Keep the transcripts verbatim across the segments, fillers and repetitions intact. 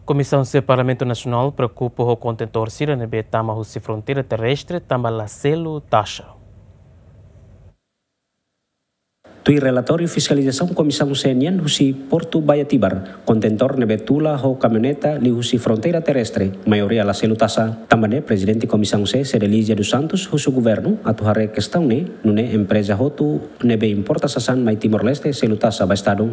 Komisaun C Parlamentu Nasionál preokupa ho kontentór sira ne'ebé tama husi fronteira terrestre tanba la selu taxa. Tuir relatóriu fiskalizasaun Komisaun C nian husi Portu Baia Tibar, kontentór ne'ebé tula ho kamioneta liuhusi fronteira terrestre, maioria la selu taxa. Tanba ne'e, Prezidente Komisaun C, Cedelizia dos Santos, husu governu atu haree kestaun ne'e, nune'e empreza hotu ne'ebé importa sasán mai Timor-Leste selu taxa ba Estadu.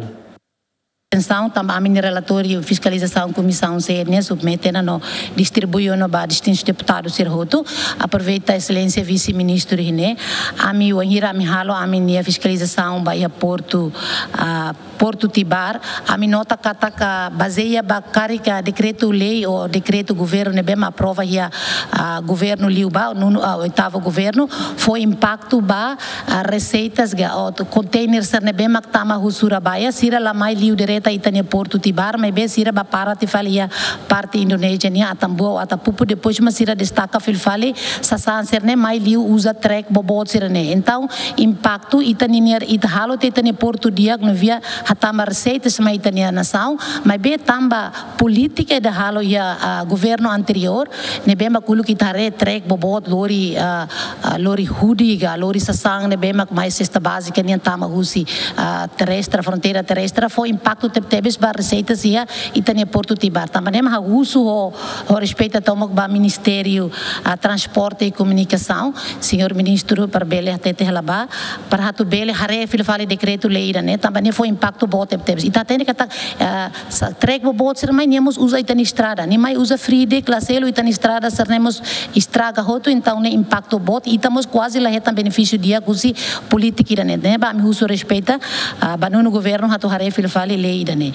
Atensaun, tanba ami-nia relatóriu fiskalizasaun Komisaun C nian submete ona no distribui ona ba distintus deputadu sira hotu. Aproveita Exelénsia Vise-Ministru iha ne'e, ami wainhira ami halo ami-nia fiskalizasaun ba iha Portu, ah, Portu Tibar, ami nota katak bazeia ba karik dekretu-lei ou dekretu governu ne'ebé mak aprova iha, ah, governu liubá, nonu, ah, oitavu governu, fó impaktu ba, ah, reseitas ka, ou konteiner sira ne'ebé mak tama husi Surabaya, sira la mai liu direta ita-nia Portu Tibar, maibé sira bá para tiha fali iha parte Indonézia nian, Atambua ou Atapupu, depois mak sira destaka fila fali sasán sira-ne'e mai liu uza trek boboot sira-ne'e. Entaun, impaktu ita ninia, ita halo tiha ita-nia portu di'ak no via hatama reseitas mai ita-nia nasaun, maibé tanba polítika ida halo iha, ah, governu anteriór, ne'ebé mak uluk ita haree trek boboot lori, ah, ah, lori hudi ka, lori sasán ne'ebé mak mai sesta bázika nian tama husi, ah, terrestre, fronteira terrestre, fó impaktu tebetebes ba reseitas iha ita-nia Portu Tibar. Tanba ne'e mak ha'u husu ho, ho respeitu tomak ba Ministériu, ah, Transporte e Komunikasaun, señór Ministru, para bele hatete hela ba, para atu bele haree fila fali dekretu-lei ida-ne'e, tanba ne'e fó impaktu boot tebetebes. Ita hatene katak, ah, sa-, trek boboot sira mai nia mós uza ita-nia estrada. Nia mai uza fridek, la selu ita-nia estrada sira-ne'e mós estraga hotu, entaun ne'e impaktu boot, ita mós kuaze la hetan benefísiu di'ak husi polítika ida-ne'e. Ne'ebé ami husu respeitu, ah, ba nonu governu atu haree fila fali lei ida-ne'e.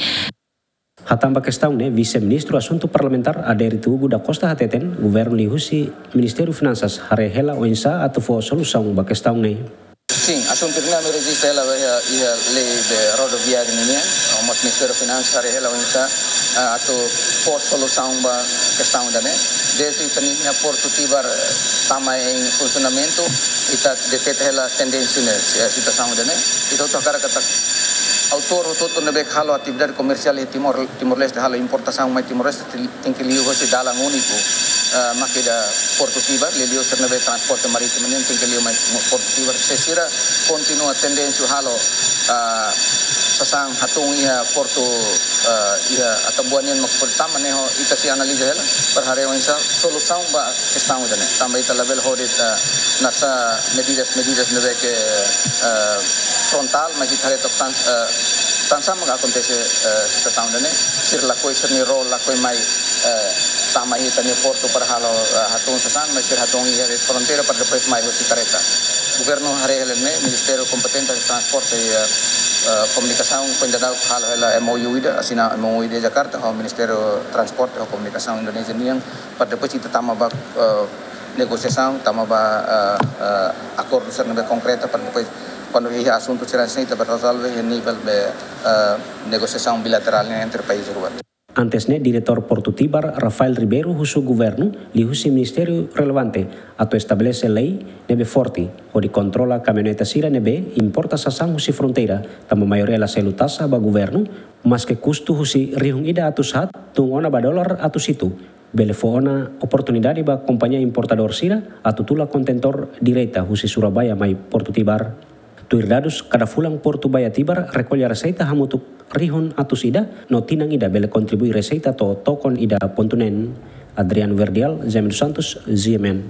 Hatán ba kestaun ne'e, Vise-Ministru Asuntu Parlamentár Adérito Hugo da Costa hateten, governu liuhusi Ministériu Finansas haree hela oinsá atu fó solusaun ba kestaun ne'e. Sin, asuntu ne'e ami rejista hela iha, iha lei de rodoviáriu nian, no mós Ministériu Finansas haree hela oinsá, ah, atu fó solusaun ba kestaun ida-ne'e. Dezde ita-nia Portu Tibar, eh, tama iha funsionamentu, ita deteta hela tendénsia ne'e, eh, situasaun ida-ne'e. Ita hotu hakarak katak autór hotu-hotu ne'ebé halo atividade komersiál iha Timor, Timor-Leste, halo importasaun mai Timor-Leste, tenke liu hosi dalan úniku, ah, mak ida Portu Tibar, liuliu sira ne'ebé transporte marítimu nian tenke liu mai Portu Tibar. Se sira kontinua tendénsia halo, ah, sasán hatun iha portu, ah, iha Atambua nian mak portu tama, ne'e ho ita sei analiza hela, para haree oinsá solusaun ba kestaun ida-ne'e. Tanba ita labele hodi, ah, nasa medidas, medidas ne'ebé ke, ah, frontál, mas ita haree took tan, ah, tansá mak akontese, eh, situasaun ida-ne'e, sira lakohi sira-nia ró lakohi mai, eh, tama iha ita-nia portu para halo, eh, hatun sasán, mas sira hatun iha fronteira para depois mai hosi kareta. Governu haree hela ne'e, Ministériu kompetente Transporte, eh, eh, Komunikasaun, foin daudauk halo hela M O U ida, asina M O U ida Jakarta, ho Ministériu Transporte ho Komunikasaun Indonézia nian, para depois ita tama ba, eh, negosiasaun, tama ba, eh, eh, akordu sira ne'ebé konkreta para depois, kuandu iha asuntu sira-ne'e ita bá rezolve iha nivel be, eh, negosiasaun bilaterál ne'e entre país rua. Antes ne'e, Diretór Portu Tibar, Rafael Ribeiro, husu governu liuhusi ministériu relevante atu estabelese lei ne'ebé forte hodi kontrola kamioneta sira ne'ebé importa sasán husi fronteira, tanba maioria la selu taxa ba governu, maske kustu husi rihun ida atus haat tun ona ba dolar atus hitu, bele fó ona oportunidade ba kompañia importadór sira atu tula kontentór direta husi Surabaya mai Portu Tibar. Tuir dadus, kada fulan Portu Baia Tibar rekolla reseita hamutuk rihun atus ida, no tinan ida bele kontribui reseita to'o tokon ida pontu neen. Adriano Verdial, Jaime dos Santos, G M N.